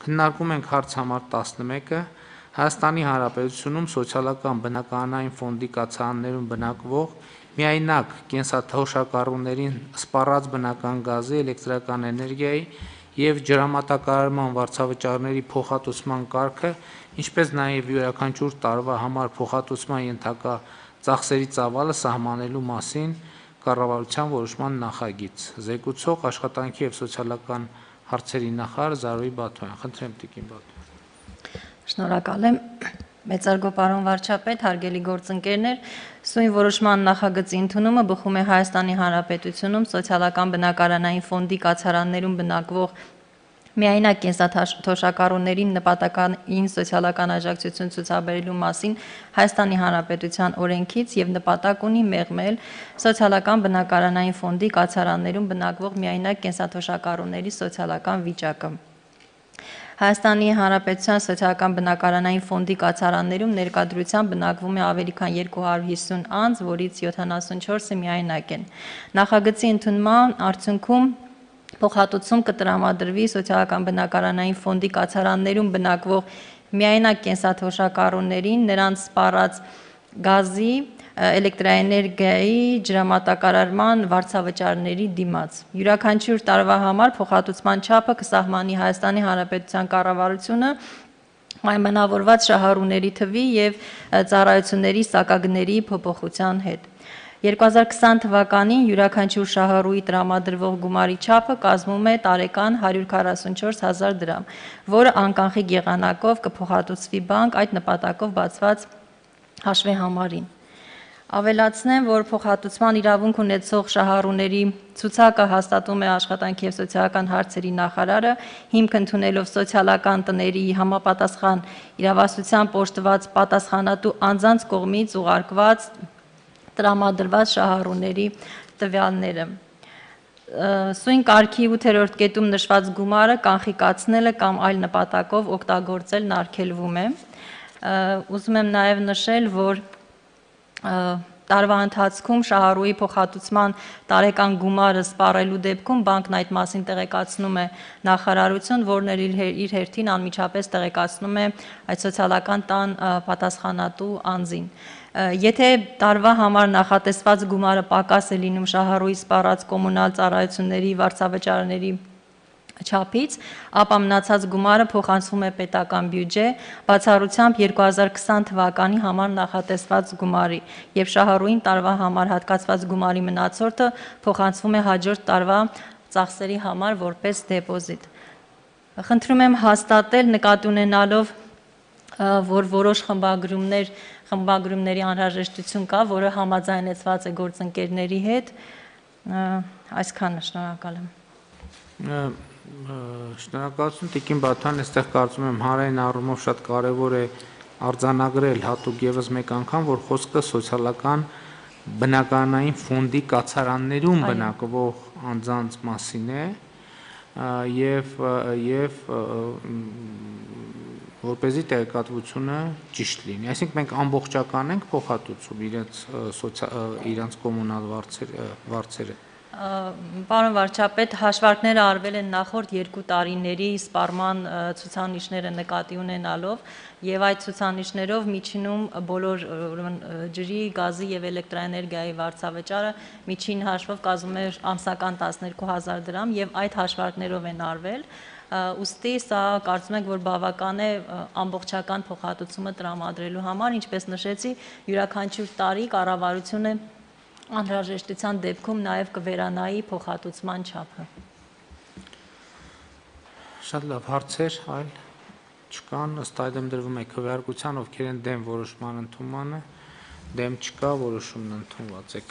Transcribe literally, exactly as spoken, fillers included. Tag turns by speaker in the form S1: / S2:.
S1: Քննարկում ենք հարց համար տասնմեկը Հայաստանի Հանրապետությունում սոցիալական բնակարանային ֆոնդի կացարաններում բնակվող միայնակ կենսաթոշակառուներին սպառած բնական գազի, էլեկտրական էներգիայի և ջրամատակարարման վարձավճարների փոխհատուցման կարգը, ինչպես նաև յուրաքանչյուր տարվա համար փոխհատուցման ենթակա ծախսերի ծավալը սահմանելու մասին կառավարության որոշման նախագիծ։ Զեկուցող Աշխատանքի և սոցիալական հարցերի նախարար Զարուհի Բաթոյան։ Խնդրեմ տիկին Բաթոյան։
S2: Շնորհակալ եմ, մեծարգո պարոն վարչապետ, հարգելի գործընկերներ, սույն որոշման նախագծի ընդունումը բխում է Հայաստանի Հանրապետությունում սոցիալական բնակարանային ֆոնդի կացարաններում բնակվող միայնակ կենսաթոշակառուներին նպատակային սոցիալական աջակցություն ցուցաբերելու մասին Հայաստանի Հանրապետության օրենքից և նպատակ ունի մեղմել սոցիալական բնակարանային ֆոնդի կացարաններում բնակվող միայնակ կենսաթոշակառուների սոցիալական վիճակը։ Հայաստանի Հանրապետության սոցիալական բնակարանային ֆոնդի կացարաններում ներկայությամբ բնակվում է ավելի քան երկու հարյուր հիսուն անձ, որից յոթանասունչորսը միայնակ են։ Նախագծի ընդունման արդյունքում փոխհատուցում կտրամադրվի սոցիալական բնակարանային ֆոնդի կացարաններում բնակվող միայնակ կենսաթոշակառուներին նրանց սպառած գազի, էլեկտրաէներգիայի, ջրամատակարարման վարձավճարների դիմաց։ Յուրաքանչյուր տարվա համար փոխհատուցման չափը կսահմանի Հայաստանի Հանրապետության կառավարությունը պայմանավորված շահառուների թվի և ծառայությունների սակագների փոփոխության հետ։ երկու հազար քսան թվականին յուրաքանչյուր շահառուի տրամադրվող գումարի չափը կազմում է տարեկան հարյուր քառասունչորս հազար դրամ, որը անկանխիկ եղանակով կփոխհատուցվի բանկ այդ նպատակով բացված հաշվեհամարին։ Ավելացնեմ, որ փոխհատուցման իրավունք ունեցող շահառուների ցուցակը հաստատում է Աշխատանքի և սոցիալական հարցերի նախարարը, հիմք ընդունելով սոցիալական տների համապատասխան իրավասությամբ օժտված պատասխանատու անձանց կողմից ուղարկված տրամադրված շահառուների տվյալները։ Սույն կարգի ութերորդ կետում նշված գումարը կանխիկացնելը կամ այլ նպատակով օգտագործելն արգելվում է։ Ուզում եմ նաև նշել, որ տարվա ընթացքում շահառուի փոխհատուցման տարեկան գումարը սպառելու դեպքում բանկն այդ մասին տեղեկացնում է նախարարություն, որն էլ իր հերթին անմիջապես տեղեկացնում է այդ սոցիալական տան պատասխանատու անձին։ Եթե տարվա համար նախատեսված գումարը պակաս է լինում շահառուի սպառած կոմունալ ծառայությունների վարձավճարների չափից, ապա մնացած գումարը փոխանցվում է պետական բյուջե, բացառությամբ երկու հազար քսան թվականի համար նախատեսված գումարի, և շահառուին տարվա համար հատկացված գումարի մնացորդը փոխանցվում է հաջորդ տարվա ծախսերի համար որպես դեպոզիտ։ Խնդրում եմ հաստատել նկատի ունենալով, որ որոշ խմբագրումներ, խմբագրումների անհրաժեշտություն կա, որը համաձայնեցված է գործընկերների հետ։ Այսքանը, շնորհակալ եմ։
S1: Շնորհակալություն տիկին Բաթոյան, այստեղ կարծում եմ հանրային առումով շատ կարևոր է արձանագրել հատուկ ևս մեկ անգամ, որ խոսքը սոցիալական բնակարանային ֆոնդի կացարաններում բնակվող անձանց մասին է և և որպեսզի տեղեկատվությունը ճիշտ լինի։ Այսինքն մենք ամբողջական ենք փոխհատուցում իրենց իրենց կոմունալ վարձերը։
S2: Պարոն վարչապետ, հաշվարկները արվել են նախորդ երկու տարիների սպառման ցուցանիշները նկատի ունենալով, և այդ ցուցանիշներով միջինում բոլոր ջրի, գազի և էլեկտրաէներգիայի վարձավճարը միջին հաշվով կազմում է ամսական տասներկու հազար դրամ, և այդ հաշվարկներով են արվել։ Ուստի սա կարծում ենք, որ բավական է ամբողջական փոխհատուցումը տրամադրելու համար, ինչպես նշեցի, յուրաքանչյուր տարի կառավարությունը անհրաժեշտության դեպքում նաև կվերանայի փոխհատուցման չափը։
S1: Շատ լավ, հարցեր այլ չկան, ըստ այդմ դրվում է քվեարկության, ովքեր են դեմ որոշման ընդունմանը, դեմ չկա, որոշումն ընդունված է։